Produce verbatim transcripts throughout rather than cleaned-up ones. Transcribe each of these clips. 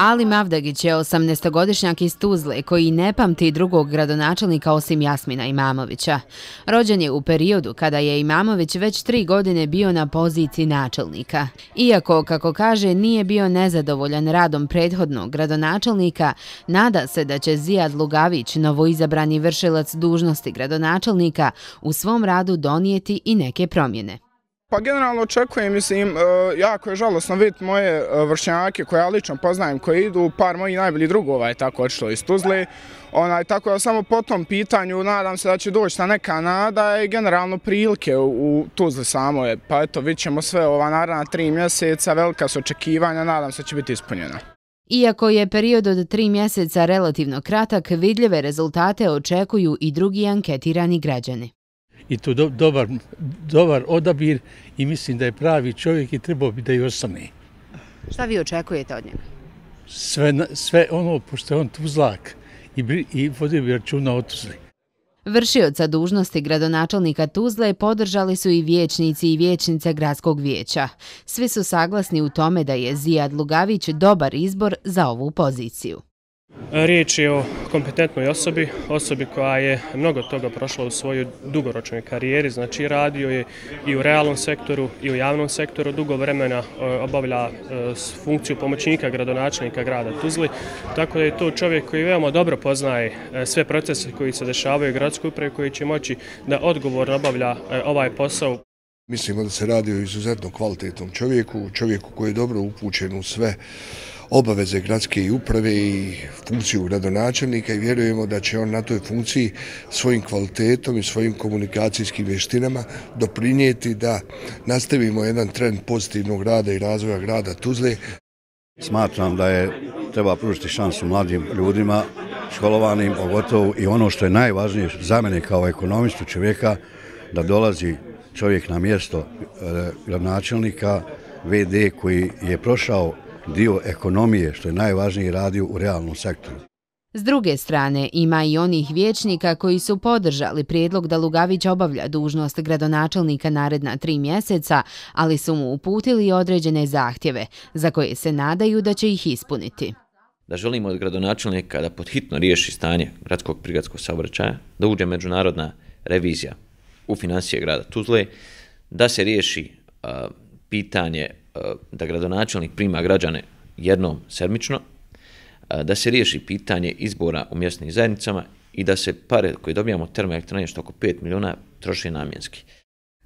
Ali Mavdagić je osamnaestogodišnjak iz Tuzle koji ne pamti drugog gradonačelnika osim Jasmina Imamovića. Rođen je u periodu kada je Imamović već tri godine bio na poziciji načelnika. Iako, kako kaže, nije bio nezadovoljan radom prethodnog gradonačelnika, nada se da će Zijad Lugavić, novoizabrani vršilac dužnosti gradonačelnika, u svom radu donijeti i neke promjene. Pa generalno očekujem, mislim, jako je žalosno vidjeti moje vršnjake koje ja lično poznajem, koji idu, par mojih najboljih drugova je tako odšlo iz Tuzle. Onaj, tako da samo po tom pitanju nadam se da će doći ta neka nada i generalno prilike u, u Tuzli samoj. Pa eto, vidjet ćemo sve ova naredna tri mjeseca, velika su očekivanja, nadam se da će biti ispunjena. Iako je period od tri mjeseca relativno kratak, vidljive rezultate očekuju i drugi anketirani građani. I to do, dobar, dobar odabir i mislim da je pravi čovjek i trebao bi da i ostane. Šta vi očekujete od njega? Sve, sve ono, pošto je on Tuzlak i, i vodio bi računa o Tuzli. Vršioca dužnosti gradonačelnika Tuzle podržali su i vijećnici i vijećnice gradskog vijeća. Svi su saglasni u tome da je Zijad Lugavić dobar izbor za ovu poziciju. Riječ je o kompetentnoj osobi, osobi koja je mnogo toga prošla u svojoj dugoročnoj karijeri, znači radio je i u realnom sektoru i u javnom sektoru, dugo vremena obavlja funkciju pomoćnika gradonačelnika grada Tuzli, tako da je to čovjek koji veoma dobro poznaje sve procese koji se dešavaju u gradskoj upravi, koji će moći da odgovorno obavlja ovaj posao. Mislimo da se radi o izuzetno kvalitetnom čovjeku, čovjeku koji je dobro upućen u sve obaveze gradske uprave i funkciju gradonačelnika i vjerujemo da će on na toj funkciji svojim kvalitetom i svojim komunikacijskim vještinama doprinijeti da nastavimo jedan trend pozitivnog rada i razvoja grada Tuzle. Smatram da je treba pružiti šansu mladim ljudima, školovanim, pogotovo i ono što je najvažnije za mene kao ekonomistu čovjeka, da dolazi čovjek na mjesto gradonačelnika, ve de koji je prošao dio ekonomije, što je najvažnije, radio u realnom sektoru. S druge strane, ima i onih vijećnika koji su podržali prijedlog da Lugavić obavlja dužnost gradonačelnika naredna tri mjeseca, ali su mu uputili određene zahtjeve, za koje se nadaju da će ih ispuniti. Da želimo od gradonačelnika da podhitno riješi stanje gradskog prigradskog saobraćaja, da uđe međunarodna revizija u financije grada Tuzle, da se riješi uh, pitanje da gradonačelnik prima građane jednom sedmično, da se riješi pitanje izbora u mjesnim zajednicama i da se pare koje dobijamo od termoelektrane, što oko pet milijuna, troši namjenski.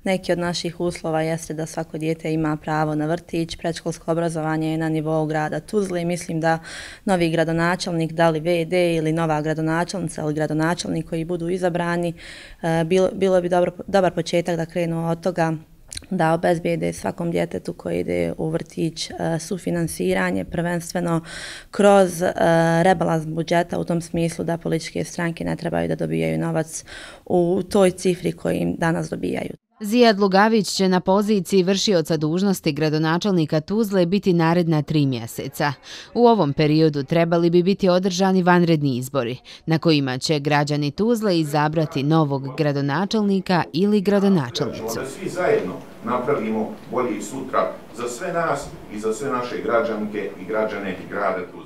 Neki od naših uslova jeste da svako dijete ima pravo na vrtić, predškolsko obrazovanje je na nivou grada Tuzle i mislim da novi gradonačelnik, da li ve de ili nova gradonačelnica ili gradonačelnik koji budu izabrani, bilo, bilo bi dobro, dobar početak da krenu od toga da obezbijede svakom djetetu koji ide u vrtić sufinansiranje, prvenstveno kroz rebalans budžeta u tom smislu da političke stranke ne trebaju da dobijaju novac u toj cifri koji im danas dobijaju. Zijad Lugavić će na poziciji vršioca dužnosti gradonačelnika Tuzle biti naredna tri mjeseca. U ovom periodu trebali bi biti održani vanredni izbori, na kojima će građani Tuzle izabrati novog gradonačelnika ili gradonačelnicu. Da svi zajedno napravimo bolji sutra za sve nas i za sve naše građanke i građane grada Tuzle.